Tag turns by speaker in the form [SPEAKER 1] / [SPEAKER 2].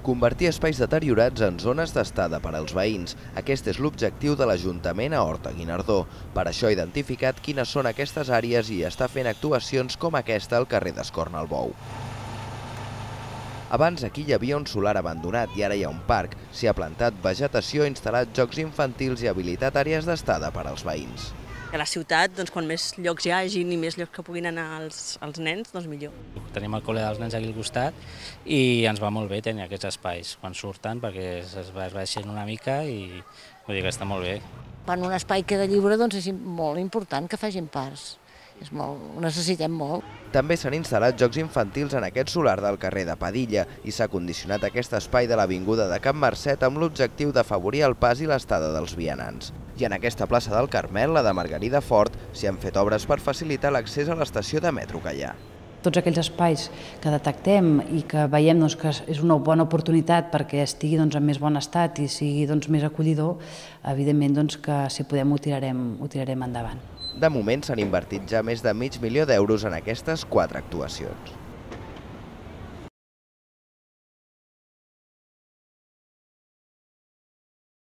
[SPEAKER 1] Convertir espais deteriorats en zones d'estada per als veïns. Aquest és l'objectiu de l'Ajuntament a Horta-Guinardó. Per això ha identificat quines són aquestes àrees i està fent actuacions com aquesta al carrer d'Escornalbou. Abans aquí hi havia un solar abandonat i ara hi ha un parc. S'hi ha plantat vegetació, instal·lat jocs infantils i habilitat àrees d'estada per als veïns.
[SPEAKER 2] A la ciutat, quan més llocs hi hagi i més llocs que puguin anar els nens, doncs millor.
[SPEAKER 3] Tenim el col·le dels nens aquí al costat i ens va molt bé tenir aquests espais quan surten perquè es baixen una mica i vull dir que està molt bé.
[SPEAKER 4] Quan un espai queda lliure doncs és molt important que facin parcs. Ho necessitem molt.
[SPEAKER 1] També s'han instal·lat jocs infantils en aquest solar del carrer de Padilla i s'ha condicionat aquest espai de l'avinguda de Can Marcet amb l'objectiu d'afavorir el pas i l'estada dels vianants. I en aquesta plaça del Carmel, la de Margarida Fort, s'hi han fet obres per facilitar l'accés a l'estació de metro que hi ha.
[SPEAKER 5] Tots aquells espais que detectem i que veiem que és una bona oportunitat perquè estigui en més bon estat i sigui més acollidor, evidentment que si podem ho tirarem endavant.
[SPEAKER 1] De moment s'han invertit ja més de mig milió d'euros en aquestes 4 actuacions.